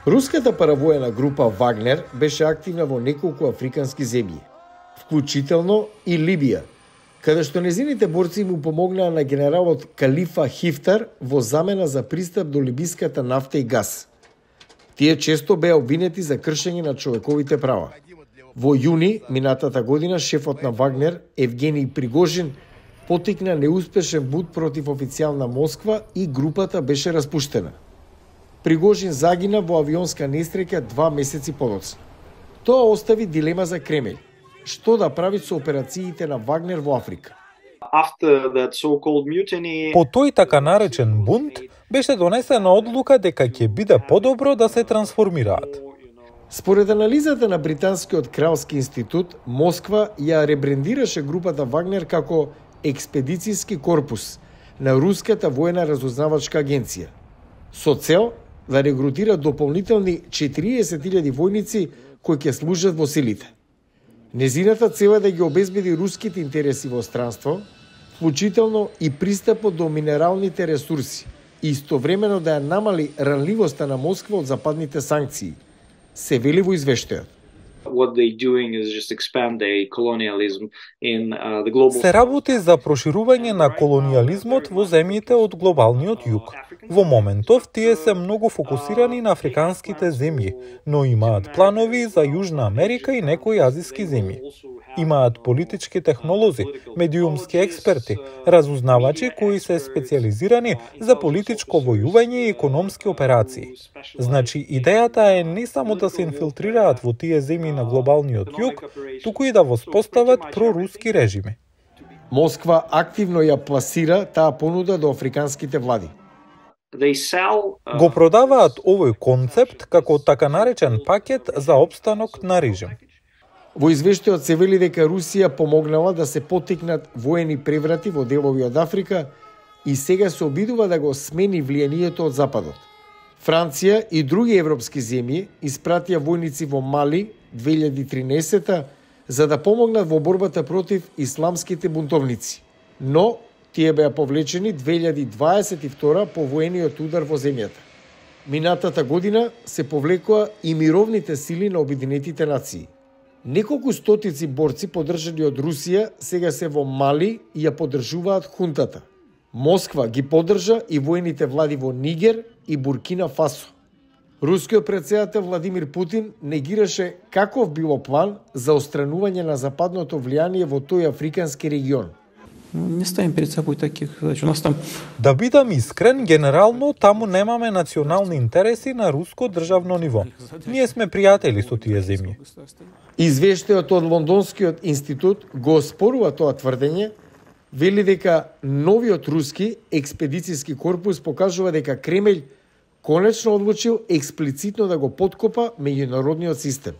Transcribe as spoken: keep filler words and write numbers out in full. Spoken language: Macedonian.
Руската паравоена група Вагнер беше активна во неколку африкански земји, вклучително и Либија, каде што незините борци му помогнаа на генералот Калифа Хифтар во замена за пристап до либиската нафта и газ. Тие често беа обвинети за кршење на човековите права. Во јуни минатата година шефот на Вагнер, Евгений Пригожин, потикна неуспешен бунт против официјална Москва и групата беше распуштена. Пригожин загина во авионска несреќа два месеци подоцна. Тоа остави дилема за Кремљ. Што да прави со операциите на Вагнер во Африка? По тој така наречен бунт беше донесена одлука дека ќе биде подобро да се трансформираат. Според анализата на Британскиот кралски институт, Москва ја ребрендираше групата Вагнер како експедицијски корпус на Руската воена разузнавачка агенција, со цел да регрутира дополнителни четириесет илјади војници кои ќе служат во силите. Незината цел е да ги обезбеди руските интереси во странство, вклучително и пристапот до минералните ресурси, и истовремено да ја намали ранливоста на Москва од западните санкции, се вели во извештајот. Се работи за проширување на колониализмот во земјите од глобалниот југ. Во моментов тие се многу фокусирани на африканските земји, но имаат планови за Јужна Америка и некои азиски земји. Имаат политички технолози, медиумски експерти, разузнавачи кои се специализирани за политичко војување и економски операции. Значи, идејата е не само да се инфилтрираат во тие земји на глобалниот југ, туку и да воспостават проруски режими. Москва активно ја пласира таа понуда до африканските влади. Го продаваат овој концепт како така наречен пакет за опстанок на режим. Во извештајот се вели дека Русија помогнала да се поттикнат воени преврати во делови од Африка и сега се обидува да го смени влијанието од Западот. Франција и други европски земји испратија војници во Мали две илјади и тринаесета за да помогнат во борбата против исламските бунтовници, но тие беа повлечени две илјади дваесет и втора по воениот удар во земјата. Минатата година се повлекоа и мировните сили на Обединетите нации. Неколку стотици борци поддржани од Русија сега се во Мали и ја поддржуваат хунтата. Москва ги поддржа и воените влади во Нигер и Буркина Фасо. Рускиот претседател Владимир Путин негираше каков било план за отстранување на западното влијание во тој африкански регион. Не ставим перед собой таких задач. У нас там... Да бидам искрен, генерално таму немаме национални интереси на руско државно ниво. Ние сме пријатели со тие земји. Извештајот од Лондонскиот институт го оспорува тоа тврдење, вели дека новиот руски експедицијски корпус покажува дека Кремљ конечно одлучил експлицитно да го поткопа меѓународниот систем.